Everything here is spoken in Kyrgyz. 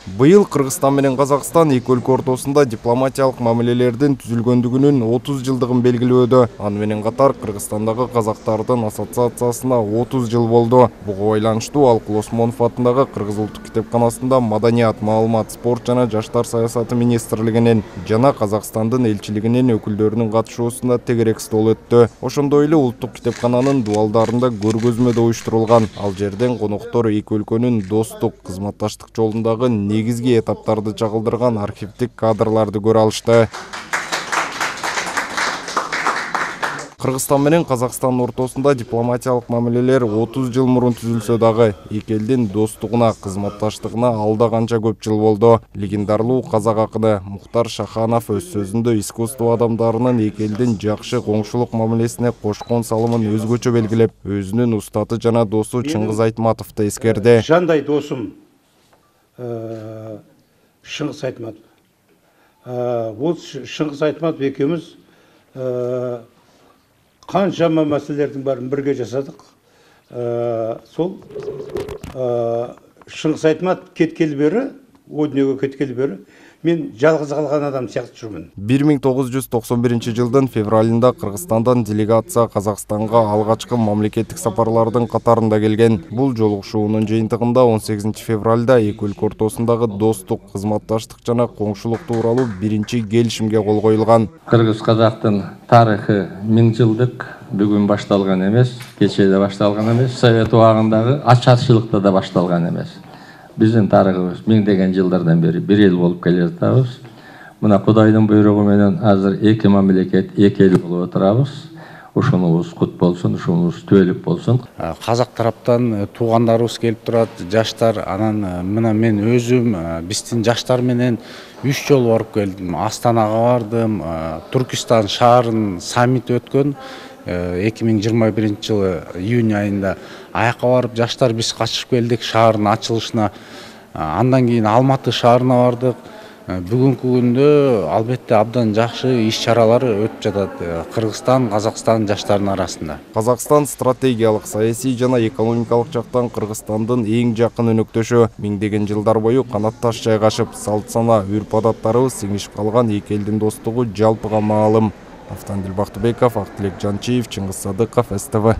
Быйыл Кыргызстан менен Казакстан эки өлкө ортосунда дипломатиялык мамилелердин түзүлгөндүгүнүн 30 жылдыгын белгилөөдө. Аны менен катар Кыргызстандагы казактардын ассоциациясына 30 жыл болду. Буга байланыштуу Алкул Осмонов атындагы Кыргыз улуттук китепканасында маданият, маалымат, спорт жана жаштар саясаты министрлигинин жана Казакстандын элчилигинин өкүлдөрүнүн катышуусунда тегерек стол өттү. Ошондой эле улуттук китепкананын дубалдарында көргөзмө уюштурулган. Ал жерден коноктор эки өлкөнүн достук, кызматташтык жолундагы негизги этаптарды чагылдырган архивдик кадрларды көрө алышты. Кыргызстан менен Казакстан ортосунда дипломатиялык мамилелер 30 жыл мурун түзүлсө дагы, эки элдин достугуна, кызматташтыгына алда канча көп жыл болду. Легендарлуу казак акыны Мухтар Шаханов өз сөзүндө искусство адамдарынын эки элдин жакшы коңшулук мамилесине кошкон салымын өзгөчө белгилеп, өзүнүн устаты жана досу Чыңгыз Айтматовду эскерди. Жандай досум Чыңгыз Айтматов. Ол Чыңгыз Айтматов экөөбүз канчама маселелердин баарын бирге жасадык. Сол Чыңгыз Айтматов кеткели бери, о дүйнөгө кеткели бери мен жалгыз калган адам сыяктуу жүрмүн. 1991 жылдын февралында Кыргызстандан делегация Казакстанга алгачкы мамлекеттик сапарлардын катарында келген. Бул жолугушуунун жыйынтыгында 18 февралда эки өлкө ортосундагы достук, кызматташтык жана коңшулук тууралуу биринчи келишимге кол коюлган. Кыргыз-Казактын тарыхы 1000 жылдык бүгүн башталган эмес, кечеде башталган эмес, Совет убагындагы ачарчылыкта да башталган эмес. Биздин тарыхыбыз миңдеген жылдардан бери бир эл болуп келе жатабыз. Мына Кудайдын буйругу менен азыр эки мамлекет, эки эл болуп отурабыз. Ушунубуз кут болсун, ушунубуз түбөлүк болсун. Казак тараптан туугандарыбыз келип турат, жаштар. Анан мына мен өзүм биздин жаштар менен 3 жолу барып келдим. Астанага бардым, Түркистан шаарынын саммити өткөн. 2021 жылы июнь айында аяка барып жаштар биз катышып келдик шаардын ачылышына. Андан кийин Алматы шаарына бардык. Бүгүнкү күндө албетте абдан жакшы иш-чаралар өтүп жатат Кыргызстан, Казакстан жаштарынын арасында. Казакстан стратегиялык, саясий жана экономикалык жактан Кыргызстандын эң жакын өнөктөшү. Миңдеген жылдар бою канатташ жайгашып, салт сана, үрп-адаттарыбыз сиңишип калган эки элдин достугу жалпыга маалым. Автандил Бактыбеков, Актилек Жанчиев, Чыңгыз Садыков, СТВ.